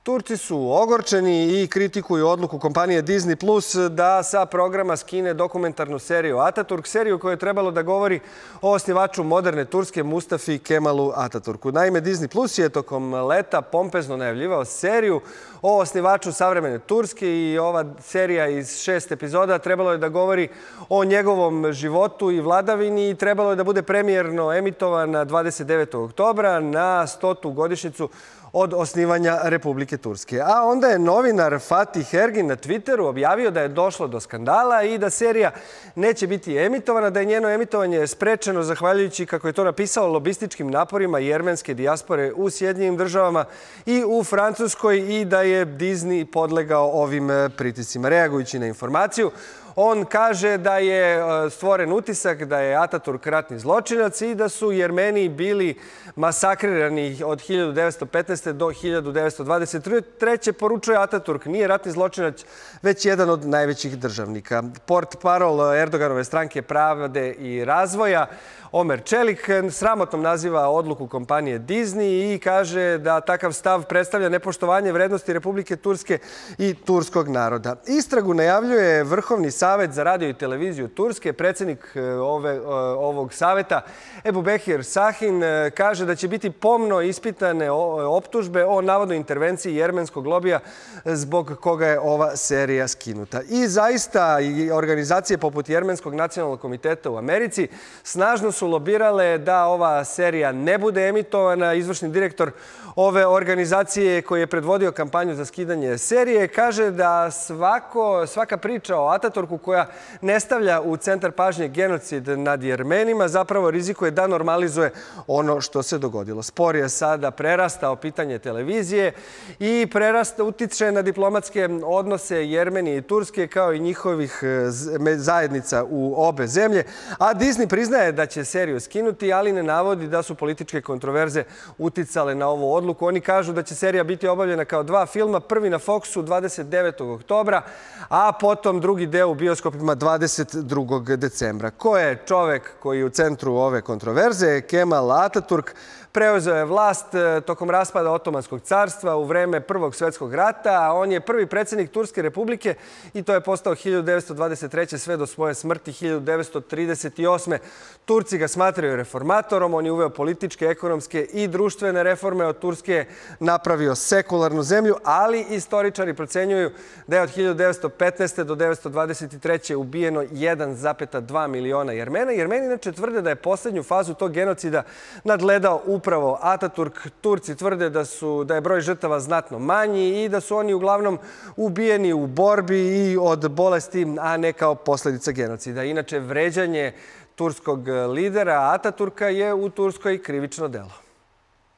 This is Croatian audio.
Turci su ogorčeni i kritikuju odluku kompanije Disney Plus da sa programa skine dokumentarnu seriju Ataturk, seriju koja je trebalo da govori o osnivaču moderne Turske Mustafi Kemalu Ataturku. Naime, Disney Plus je tokom leta pompezno najavljivao seriju o osnivaču savremene Turske i ova serija iz 6 epizoda trebalo je da govori o njegovom životu i vladavini i trebalo je da bude premijerno emitovana 29. oktobra na 100. godišnjicu od osnivanja Republike Turske. A onda je novinar Fatih Ergin na Twitteru objavio da je došlo do skandala i da serija neće biti emitovana, da je njeno emitovanje sprečeno zahvaljujući, kako je to napisao, lobističkim naporima jermenske dijaspore u Sjedinjenim Državama i u Francuskoj i da je Disney podlegao ovim pritiscima. Reagujući na informaciju, on kaže da je stvoren utisak da je Ataturk ratni zločinac i da su Jermeni bili masakrirani od 1915. do 1923. Poručuje Ataturk nije ratni zločinac, već jedan od najvećih državnika. Portparol Erdoganove stranke Pravde i razvoja Omer Čelik sramotnom naziva odluku kompanije Disney i kaže da takav stav predstavlja nepoštovanje vrednosti Republike Turske i turskog naroda. Istragu najavljuje Vrhovni savet za radio i televiziju Turske. Predsjednik ovog saveta, Ebubekir Sahin, kaže da će biti pomno ispitane optužbe o navodnoj intervenciji jermenskog lobija zbog koga je ova serija skinuta. I zaista i organizacije poput Jermenskog nacionalnog komiteta u Americi snažno su lobirale da ova serija ne bude emitovana. Izvršni direktor ove organizacije koji je predvodio kampanju za skidanje serije kaže da svaka priča o Ataturku koja ne stavlja u centar pažnje genocid nad Jermenima zapravo rizikuje da normalizuje ono što se dogodilo. Spor je sada prerastao pitanje televizije i utiče na diplomatske odnose Jermenije i Turske kao i njihovih zajednica u obe zemlje. A Disney priznaje da će seriju skinuti, ali ne navodi da su političke kontroverze uticale na ovu odluku. Oni kažu da će serija biti obavljena kao 2 filma, prvi na Foxu 29. oktobra, a potom drugi deo u bioskopima 22. decembra. Ko je čovek koji je u centru ove kontroverze? Kemal Ataturk preuzeo je vlast tokom raspada Otomanskog carstva u vreme Prvog svjetskog rata. On je prvi predsjednik Turske republike i to je postao 1923. sve do svoje smrti 1938. Turci ga smatraju reformatorom. On je uveo političke, ekonomske i društvene reforme. Od Turske je napravio sekularnu zemlju, ali istoričari procenjuju da je od 1915. do 1923. ubijeno 1,2 miliona Jermena. Jermeni inače tvrde da je posljednju fazu tog genocida nadgledao upravo Ataturk. Turci tvrde da je broj žrtava znatno manji i da su oni uglavnom ubijeni u borbi i od bolesti, a ne kao posljedica genocida. Inače, vređanje turskog lidera Ataturka je u Turskoj krivično delo.